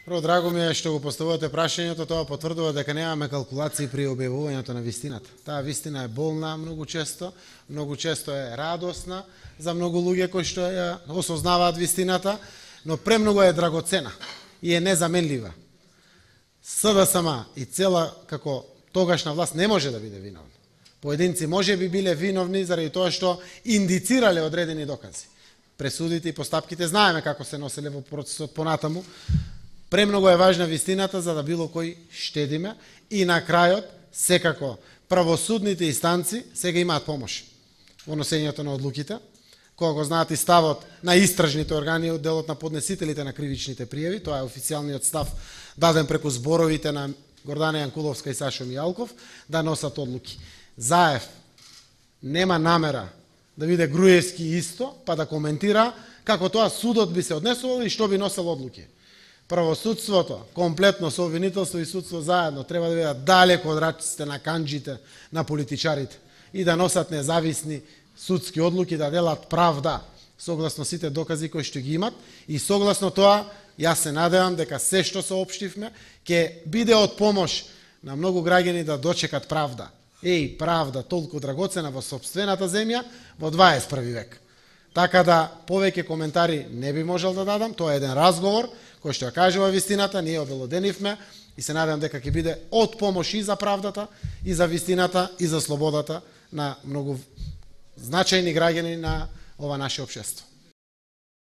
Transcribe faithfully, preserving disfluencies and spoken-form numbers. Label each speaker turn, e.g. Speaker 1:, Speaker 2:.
Speaker 1: Прво, драго ми е што го поставувате прашањето, тоа потврдува дека немаме калкулации при објавувањето на вистината. Таа вистина е болна многу често, многу често е радосна за многу луѓе кои што ја осознаваат вистината, но премногу е драгоцена и е незаменлива. СДСМ и цела како тогашна власт не може да биде виновна. Поединци може би биле виновни заради тоа што индицирале одредени докази. Пресудите и постапките знаеме како се носеле во процесот понатаму. Премногу е важна вистината за да било кој штедиме и на крајот секако правосудните инстанци сега имаат помош во носењето на одлуките, кога го знаат и ставот на истражните органи од делот на поднесителите на кривичните пријави, тоа е официјалниот став даден преку зборовите на Гордана Јанкуловска и Сашо Мијалков да носат одлуки. Заев нема намера да биде Груевски исто, па да коментира како тоа судот би се однесувал и што би носел одлуки. Правосудството, комплетно со обвинителство и судство заедно, треба да бидат далеко од рачите на канџите на политичарите и да носат независни судски одлуки, да делат правда согласно сите докази кои што ги имат и согласно тоа, јас се надевам дека се што соопштивме ќе биде од помош на многу граѓани да дочекат правда. Еј, правда толку драгоцена во сопствената земја во дваесет први век. Така да повеќе коментари не би можел да дадам, тоа е еден разговор кој што ја кажува вистината, ние обелоденивме и се надевам дека ќе биде од помош и за правдата, и за вистината, и за слободата на многу значајни граѓани на ова наше општество.